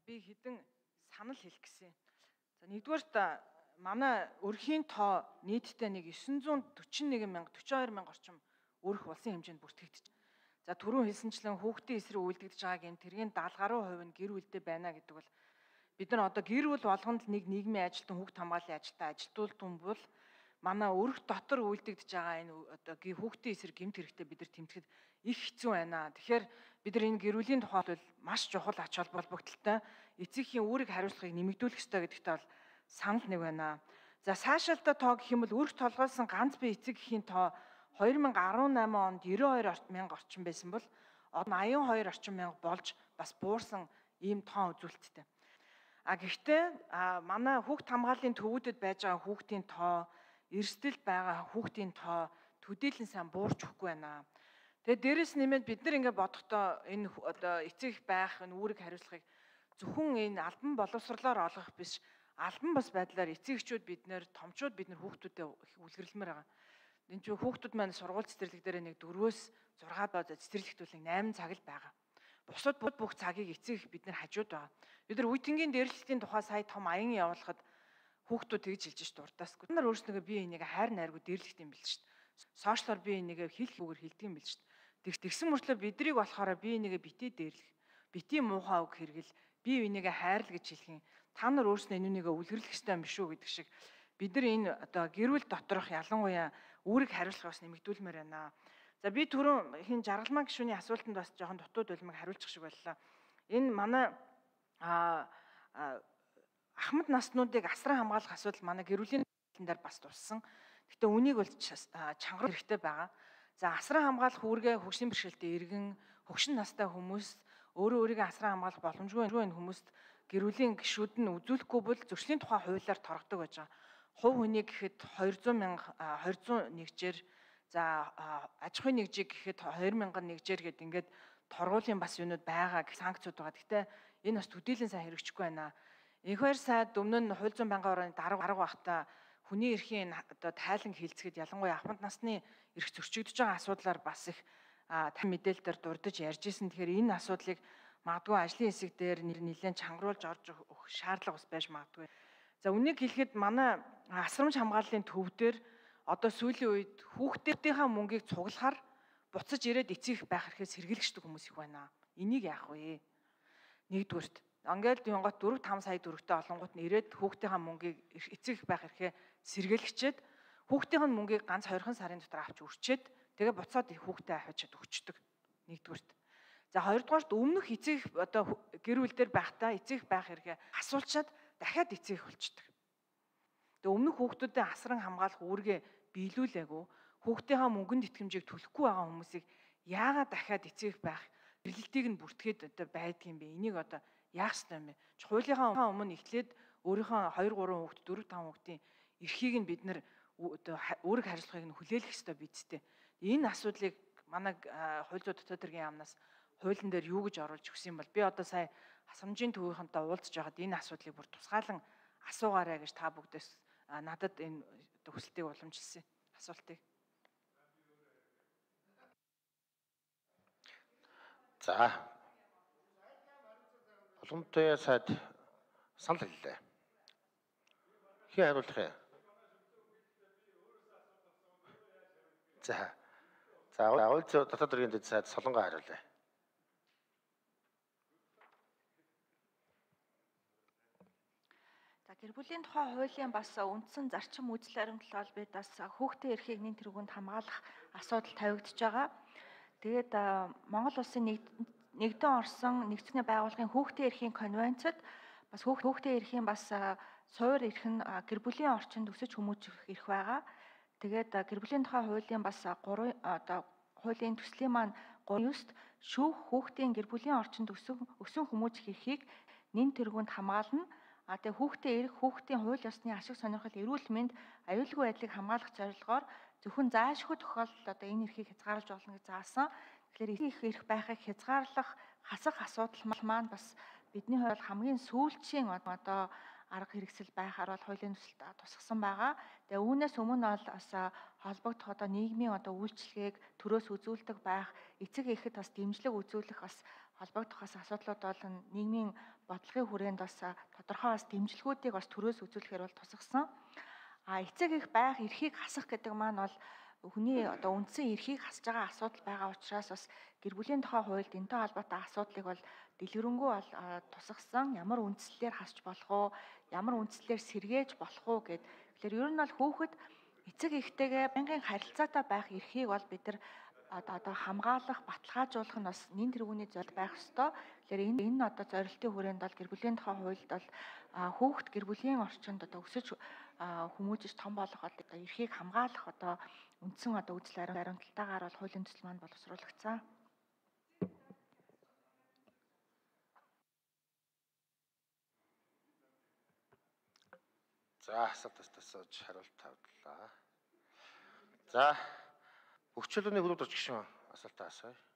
би хэдэн санал хэлэх гэсэн. За нэгдүгээрт манай өрхийн тоо нийтдээ нэг 941,042 орчим өрх улсын хэмжээнд бүртгэгдэж. За түрүүн хэлсэнчлэн хүүхдийн эсрэг үйлдэгдэж байгаа гэм тэргийн 70 гаруй хувь нь гэр бүлдээ байна гэдэг бол бид нар одоо гэр бүл болгонд л нэг нийгмийн ажилтан хүүхд хамгааллын ажилтаа ажилтуулсан бол манай өрх дотор үйлдэгдэж байгаа энэ одоо хүүхдийн эсрэг гэмт хэрэгтэй бид нар тэмдэхэд их хэцүү байна. Тэгэхээр бид нар энэ гэр бүлийн тухайд бол маш чухал ач холбогдолтой эцэгхийн үүрэг хариуцлагыг нэмэгдүүлэх ёстой гэдэгт бол санал нэг байна. За цаашаалтаа тоо гэх юм бол өрх толгойсон ганц бие эцэг эхийн тоо 2018 онд 92,000 орчим байсан бол одоо 82 орчим мянга болж бас буурсан ийм тоо үзүүлэлттэй. Гэхдээ манай хүүхд хамгааллын төвүүдэд байж байгаа хүүхдийн тоо, эрсдэлд байгаа хүүхдийн тоо төдийлөн сайн буурч өгөхгүй байна. Тэгээд дээрэс нэмээд бид нар ингээд бодохдоо энэ одоо эцэг байх энэ үүрэг хариуцлагыг зөвхөн энэ албан боловсрлоор олгох биш, албан бус байдлаар эцэг эхчүүд бид нэр томчууд бид нар хүүхдүүдэд их үлгэрлэмээр байгаа. Энэ ч хүүхдүүд маань сургууль цэцэрлэг дээр нэг 4-өөс 6 доо цэцэрлэгтүүл 8 цаг л байгаа. Бусад бүх цагийг эцэг бид нар хажууд байгаа. Бид нар үеийнгийн дээрлэлтийн тухай сая том аян явуулахад хүүхдүүд тэгж хэлж ш дуртаас. Бид нар өөрснөө бие энийг хайр найргүй дээрлэхт юм бэл ш. Сошиалор бие энийг хэл хөвгөр хэлдэг юм бэл ш. Тэгсэн мөртлөө бидрийг болохоор бие энийг битээ дээрлэх, битийн муухай үг хэрэгэл, бие энийг хайрл гэж хэлэх юм. Та нар өөрснөө энүүнийг үлгэрлэх ёстой юм биш үү гэдэг шиг бид нар энэ одоо гэр бүл доторх ялангуяа үүрэг хариуцлага бас нэмэгдүүлмээр байна. За би түрүүн хин жаргалмаа гишүүний асуултанд бас жоохон дутууд улмыг хариулчих шиг боллоо. Энэ манай ахмад наснуудыг асран хамгаалах асуудал манай гэр бүлийн дээр бас туссан. Гэтэ үнийг бол чангаруулах хэрэгтэй байгаа. За асран хамгаалах үүргээ хөгжлийн бэрхшээлтэй иргэн, хөгшин настай хүмүүс өөрийгөө асран хамгаалах боломжгүй энэ хүмүүст гэр бүлийн гишүүд нь үзүүлэхгүй бол зөрчлийн тухай хуулиар торгодог байж байгаа. Хувь хүний гэхэд 201-жээр за аж ахуйн нэгжийг гэхэд 2001-жээр гээд ингээд торгуулийн бас юунууд байгаа гэх санкцууд байгаа. Гэтэ энэ бас төдийлөн сайн хэрэгжихгүй байна. Энх баяр сайд өмнө нь хууль зүйн байнгын орны дарга байхдаа хүний эрхийн одоо тайлан хилцэхэд ялангуяа ахмад насны эрх зөрчигдөж байгаа асуудлаар бас их мэдээлэлээр дурдж ярьж исэн. Тэгэхээр энэ асуудлыг магадгүй ажлын хэсэг дээр нэлээд чангаруулж орж өгөх шаардлага бас байж магадгүй. За үнийг хэлэхэд манай асрамж хамгааллын төв дээр одоо сүүлийн үед хүүхдүүдийнхээ мөнгийг цуглахаар буцаж ирээд эцэг байх хэрэгээс сэргийлэгчдэг хүмүүс их байна. Энийг яах вэ? Нэгдүгürt ангиад юнгот 4-5 сая төгрөгтэй олонгууд нь ирээд хүүхдийнхээ мөнгийг эцэг байх хэрэгээ сэргийлэгчээд хүүхдийн мөнгийг ганц 20 сарын дотор авч өрчөөд тэгээ буцаад хүүхдээ авчиад өгчдөг. Нэгдүгürt. За хоёрдугаарт өмнөх эцэг одоо гэр бүл дээр байхдаа эцэг байх хэрэгээ асуулчаад дахиад эцэг болчдөг. Тэгээ өмнөх хүүхдүүдэд асран хамгаалах үүргээ биелүүлээгүй хүүхдийнхээ мөнгөнд итгэмжийг төлөхгүй байгаа хүмүүсийг яагаад дахиад эцэг байх эргэлтийг нь бүртгээд одоо байдаг юм бэ? Энийг одоо яах ёстой юм бэ? Хуулийнхаа өмнө эхлээд өөрийнхөө 2 3 хүүхд 4 5 хүүхдийн эрхийг нь бид нэр одоо үүрэг хариуцлагыг нь хүлээх ёстой бидтэй. Энэ асуудлыг манай хууль зүйн дотоод хэргийн яамнаас хуулийн дээр юу гэж оруулж өгсөн юм бол би одоо сая асрамжийн төвийнхэнтэй уулзж байгаад энэ асуудлыг бүр тусгаалan асуугаарай гэж та бүгдээс надад энэ хүсэлтийг уламжилсан асуултыг. За. Уламтай сайд санал хэллээ. Хин хариулах юм. За. Хууль зүйн дотоод хэргийн дэд сайд Солонгоо хариулъя. Гэр бүлийн тухай хуулийн бас үндсэн зарчим үзэл баримтлал бид бас хүүхдийн эрхийг нэн тэргуунд хамгаалах асуудал тавигдж байгаа. Тэгээд Монгол улсын нэгдэн орсон нэгдсэний байгууллагын хүүхдийн эрхийн конвенцэд бас хүүхдийн эрхийн бас суур эрх нь гэр бүлийн орчинд өсөж хүмүүжих эрх байгаа. Тэгээд гэр бүлийн тухай хуулийн бас 3 одоо хуулийн төслийн маань 3-9-т шүүх хүүхдийн гэр бүлийн орчинд өсөн хүмүүжих эрхийг нэн тэргуунд хамгаална. Тэгээ хүүхдийн эрх, хүүхдийн хууль ёсны ашиг сонирхол, эрүүл мэнд, аюулгүй байдлыг хамгаалах зорилгоор зөвхөн заашгүй тохиолдолд одоо энэ эрхийг хязгаарлаж болно гэж заасан. Тэгэхээр их эрх байхыг хязгаарлах хасах асуудал маань бас бидний хувьд хамгийн сүүлчийн одоо арга хэрэгсэл байхаар бол хуулийн төсөлд тусгасан байгаа. Тэгээ үүнээс өмнө бол бас холбогдох одоо нийгмийн одоо үйлчлэгийг төрөөс үзүүлдэг байх, эцэг эхэд бас дэмжлэг үзүүлэх бас холбогдох бас асуудлууд бол нийгмийн бодлогын хүрээнд бас тодорхой бас дэмжлэгүүдийг бас төрөөс үзүүлэхээр бол тусгасан. Эцэг их байх эрхийг хасах гэдэг маань бол хүний одоо үндсэн эрхийг хасж байгаа асуудал байгаа учраас бас гэр бүлийн тухай хуульд энэтэй холбоотой асуудлыг бол дэлгэрэнгүй бол тусгасан. Ямар үндслэлээр хасч болох уу, ямар үндслэлээр сэргээж болох уу гэд. Тэгэхээр ер нь бол хүүхэд эцэг эхтэйгээ байнгын харилцаатай байх эрхийг бол бид нар одоо хамгаалах, баталгаажуулах нь бас нэн тэргүүний зорилт байх ёстой. Тэгэхээр энэ одоо зорилтын хүрээнд бол гэр бүлийн тухай хуульд бол хүүхэд гэр бүлийн орчинд одоо өсөж хүмүүжиж том болох бол одоо эрхийг хамгаалах одоо үндсэн одоо үзэл баримталтайгаар бол хуулийн төсөл маань боловсруулагдсан. За асуултаас асууж хариулт тавьлаа. За бүх чөлөөний хөлөд орч гişүн асуултаа асууя.